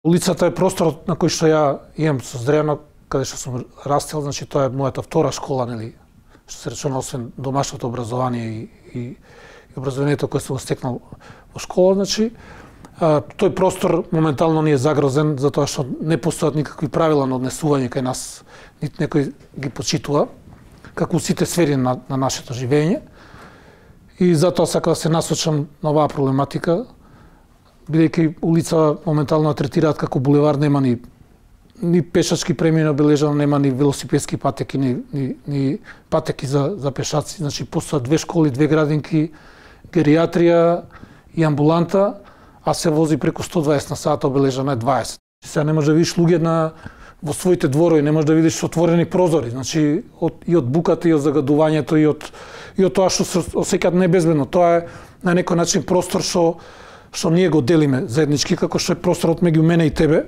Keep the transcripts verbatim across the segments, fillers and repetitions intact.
Улицата е просторот на кој што ја имам со Здрено, каде што сум растел, значи тоа е мојата втора школа, нели, што се речено освен домашното образование и, и, и образованието кое сум стекнал во школа, значи а, тој простор моментално ни е загрозен затоа што не постојат никакви правила на однесување кај нас, нит некој ги почитува, како сите сфери на, на нашето живење. И затоа сакам да се насочам на оваа проблематика, бидејќи улица моментално третираат како булевар, нема ни ни пешачки премини обележано, нема ни велосипедски патеки, ни, ни, ни патеки за, за пешаци. Значи, постојат две школи, две градинки, гериатрија и амбуланта, а се вози преку сто дваесет на сат, обележано е дваесет. Сега не може да видиш луѓе на во своите дворови, не може да видиш отворени прозори, значи од, и од буката, и од загадувањето, и од, и од тоа што се осеќаат небезбедно. Тоа е на некој начин простор што што ние го делиме заеднички, како што е просторот меѓу мене и тебе.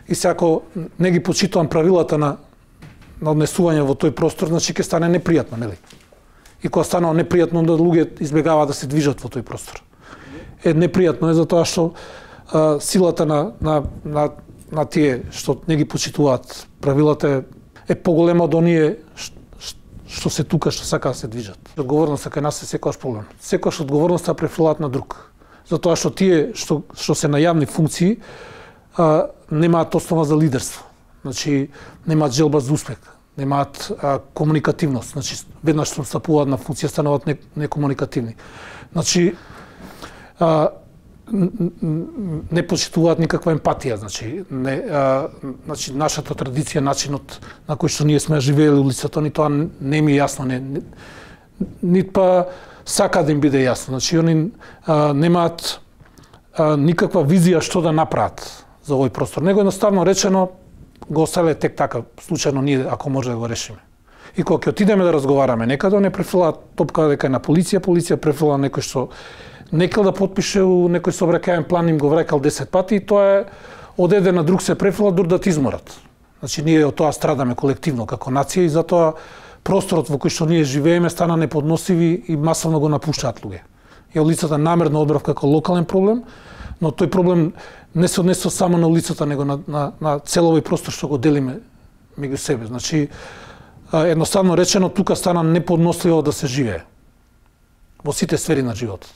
И се ако не ги почитувам правилата на, на однесување во тој простор, значи ќе стане непријатно, нели? И кога станува непријатно, onda луѓе избегаваат да се движат во тој простор. Е непријатно е затоа што а, силата на, на, на, на тие што не ги почитуваат правилата е, е поголема од оние што се тука, што сака да се движат. Одговорноста кај нас е секогаш проблем. Секогаш одговорноста префрлаат на друг. Затоа што тие што, што се на јавни функции а, немаат основа за лидерство. Значи, немаат желба за успех, немаат а, комуникативност. Значи, веднаш што стапуваат на функција, стануваат не, некомуникативни. Значи, а, не почитуваат никаква емпатија. Значи, не, а, значи, нашата традиција, начинот на кој што ние сме живеели улицата, ни тоа не ми е јасно. Не, не, нит па сака да им биде јасно. Значи, они а, немаат а, никаква визија што да направат за овој простор. Него едноставно речено го оставиле тек така, случајно ние ако може да го решиме. И кога ќе отидеме да разговараме некаде, не префрлаат топка дека е на полиција, полиција префрла некој што некал да потпише у некој сообраќајен план, им го враќал десет пати, и тоа е од еден на друг се префрла дур да ти изморат. Значи, ние од тоа страдаме колективно како нација и затоа просторот во кој што ние живееме стана неподносив и масовно го напуштаат луѓе. Ја улицата намерно одбрав како локален проблем, но тој проблем не се однесува само на улицата, него на, на, на цел овој простор што го делиме меѓу себе. Значи, едноставно речено, тука стана неподносливо да се живее во сите сфери на животот.